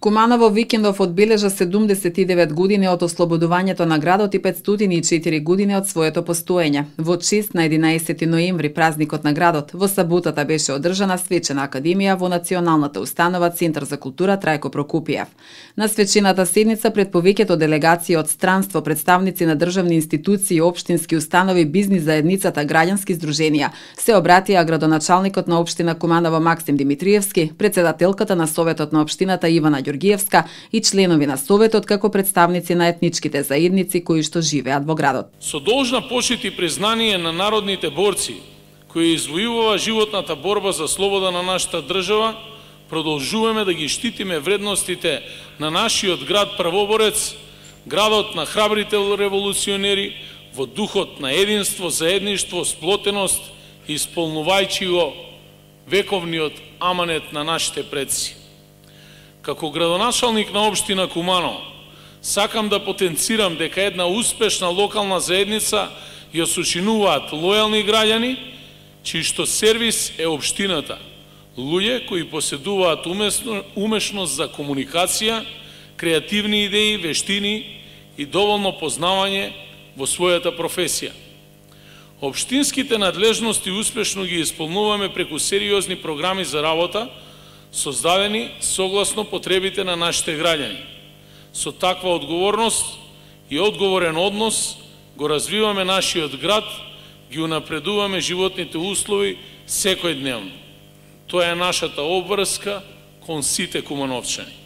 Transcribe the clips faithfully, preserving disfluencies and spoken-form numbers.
Куманово викендов одбележа седумдесет и девет години од ослободувањето на градот и петстотини и четири години од своето постоење. Во чест на единаесети ноември, празникот на градот, во саботата беше одржана свечена академија во Националната установа Центар за култура Трајко Прокупиев. На свечената седница пред повеќето делегации од странство, представници на државни институции, општински установи, бизнис заедницата, граѓански здруженија, се обратија градоначалникот на општина Куманово Максим Димитриевски, председателката на Советот на општината Ивана Ѓоргиевска и членови на Советот како представници на етничките заедници кои што живеат во градот. Со должна почит и признание на народните борци кои извојуваа животната борба за слобода на нашата држава, продолжуваме да ги штитиме вредностите на нашиот град правоборец, градот на храбрите револуционери, во духот на единство, заедништво, сплотеност, исполнувајќи го вековниот аманет на нашите предци. Како градоначалник на општина Куманово, сакам да потенцирам дека една успешна локална заедница ја сочинуваат лојални граѓани, чиј што сервис е општината, луѓе кои поседуваат умесно, умешност за комуникација, креативни идеи, вештини и доволно познавање во својата професија. Општинските надлежности успешно ги исполнуваме преку сериозни програми за работа, создадени согласно потребите на нашите граѓани. Со таква одговорност и одговорен однос го развиваме нашиот град, ги унапредуваме животните услови секојдневно. Тоа е нашата обврска кон сите кумановчани.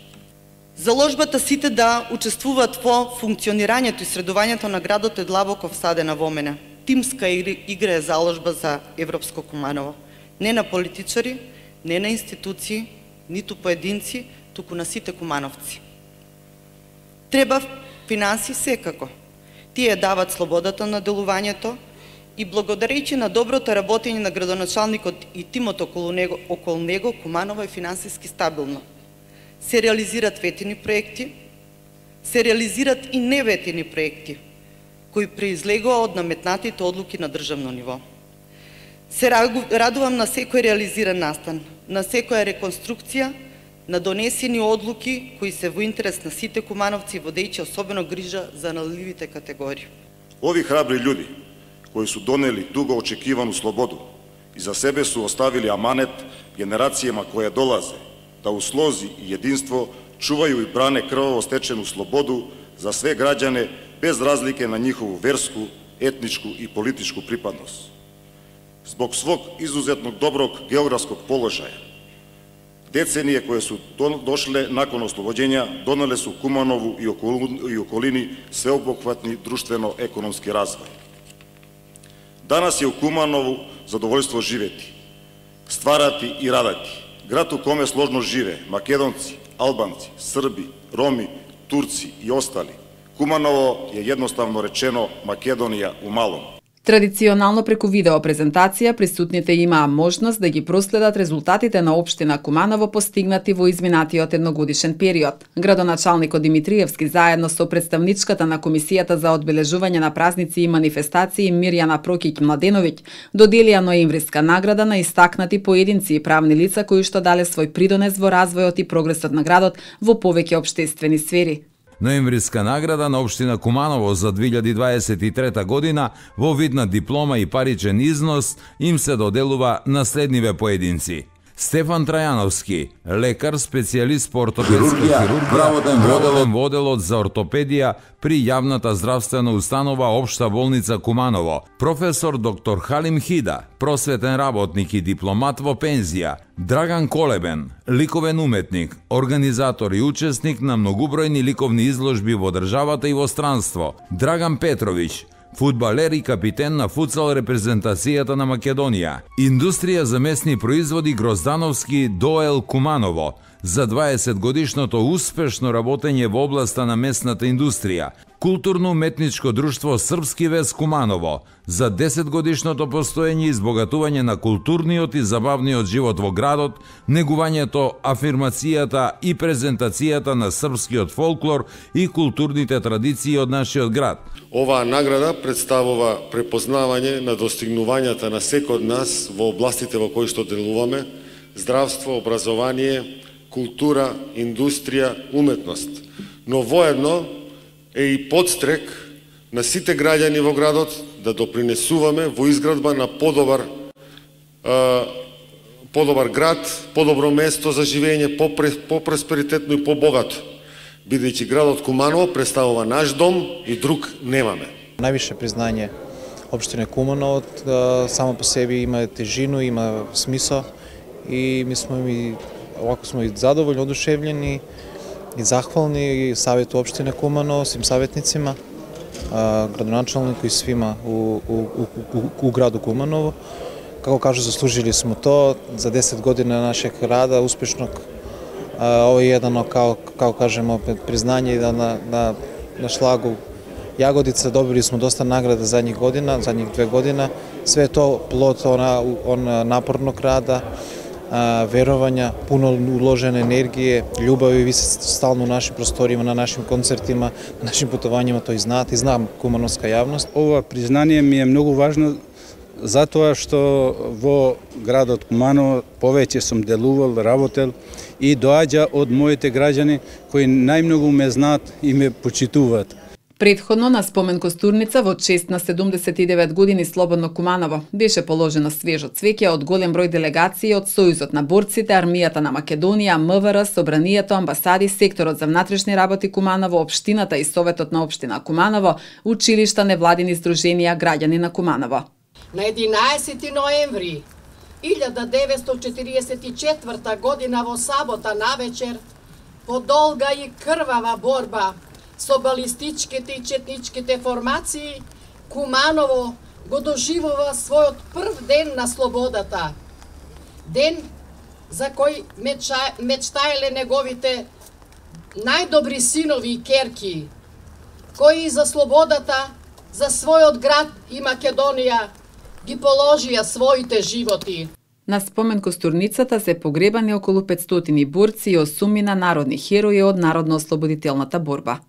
Заложбата сите да учествуваат во функционирањето и средувањето на градот е длабоко всадена во мене. Тимска игра е заложба за Европско Куманово. Не на политичари, не на институции, ниту поединци, туку на сите кумановци. Треба финанси секако. Тие дават слободата на делувањето и благодарејќи на доброто работење на градоначалникот и тимот околу него, околу него Куманово е финансиски стабилно. Се реализират ветени проекти, се реализират и неветени проекти, кои произлегува од наметнатите одлуки на државно ниво. Се радувам на секој реализиран настан, на секоја реконструкција, на донесени одлуки кои се во интерес на сите кумановци, водејќи особено грижа за наливите категории. Ови храбри људи, кои су донели дуго очекивану слободу и за себе су оставили аманет генерацијама која долазе, да у слози и единство чувају и бране крваво стечену слободу за све граѓане без разлike на нjihovu верску, етничку и политичку припадност. Због свог изузетно доброг географског положаја, деценije koje su došle nakon oslobođenja donele su Kumanovu i okolini sveobuhvatni društveno-ekonomski razvoj. Danas je u Kumanovu zadovoljstvo živeti, stvarati i radati. Grad u kome složno žive Makedonci, Albanci, Srbi, Romi, Turci i ostali. Kumanovo je jednostavno rečeno Makedonija u malom. Традиционално преку видео презентација присутните имаа можност да ги проследат резултатите на општина Куманово постигнати во изминатиот едногодишен период. Градоначалникот Димитриевски заедно со представничката на Комисијата за одбележување на празници и манифестации Мирјана Прокиќ-Младеновиќ доделија ноемвриска награда на истакнати поединци и правни лица кои што дале свој придонес во развојот и прогресот на градот во повеќе општествени сфери. Ноемвриска награда на општина Куманово за две илјади дваесет и трета година во вид на диплома и паричен износ им се доделува на следниве поединци. Стефан Трајановски, лекар, специјалист по ортопедска хирургија, воден во оделот за ортопедија при јавната здравствена установа Општа болница Куманово. Професор доктор Халим Хида, просветен работник и дипломат во пензија. Драган Колебен, ликовен уметник, организатор и учесник на многубројни ликовни изложби во државата и во странство. Драган Петровиќ, фудбалер и капитен на футсал репрезентацијата на Македонија. Индустрија за месни производи Гроздановски Доел Куманово за дваесет годишното успешно работење во областа на месната индустрија. Културно-уметничко друштво Српски вез Куманово за десет годишното постоење и избогатување на културниот и забавниот живот во градот, негувањето, афирмацијата и презентацијата на српскиот фолклор и културните традиции од нашиот град. Оваа награда представува препознавање на достигнувањата на секој од нас во областите во кои што делуваме: здравство, образование, култура, индустрија, уметност. Но воедно е и подстрек на сите граѓани во градот да допринесуваме во изградба на подобар подобар град, подобро место за живење, по-просперитетно и по-богато, бидејќи градот Куманово представува наш дом и друг немаме. Највише признање општина Куманово само по себе има тежину, има смисла и ми сме и овако сме и задоволни, одушевljeni и захвални и Савет општина Куманово, свим саветницима, градоначалнику и свима у, у, у, у граду Куманово. Како кажу, заслужили смо то за десет година нашeg рада, успешnog. Ovo je jedno, kao, kao kažemo, priznanje da na, na, na šlagu Jagodica dobili smo dosta nagrada zadnjih godina, zadnjih dve godina. Sve je to plod ona, ona napornog rada, a, verovanja, puno uložene energije, ljubavi. Vi ste stalno u našim prostorima, na našim koncertima, na našim putovanjima, to i znate, i znam kumanovska javnost. Ова признание ми е многу важно затоа што во градот Куманово повеќе сум делувал, работел и доаѓа од моите граѓани кои најмногу ме знаат и ме почитуваат. Предходно на спомен костурница во чест на седумдесет и девет години Слободно Куманово беше положено свежо цвеќе од голем број делегации од Сојузот на борците, Армијата на Македонија, МВР, Собранието, амбасади, секторот за внатрешни работи Куманово, општината и Советот на општина Куманово, училишта, невладини здруженија, граѓани на Куманово. На единаесети ноември илјада деветстотини четириесет и четврта година во сабота навечер, по долга и крвава борба со балистичките и четничките формации, Куманово го доживува својот прв ден на слободата. Ден за кој меча, мечтаеле неговите најдобри синови и керки, кои за слободата, за својот град и Македонија ги положија своите животи. На спомен костурницата се погребани околу петстотини борци и осумина народни херои од народно-ослободителната борба.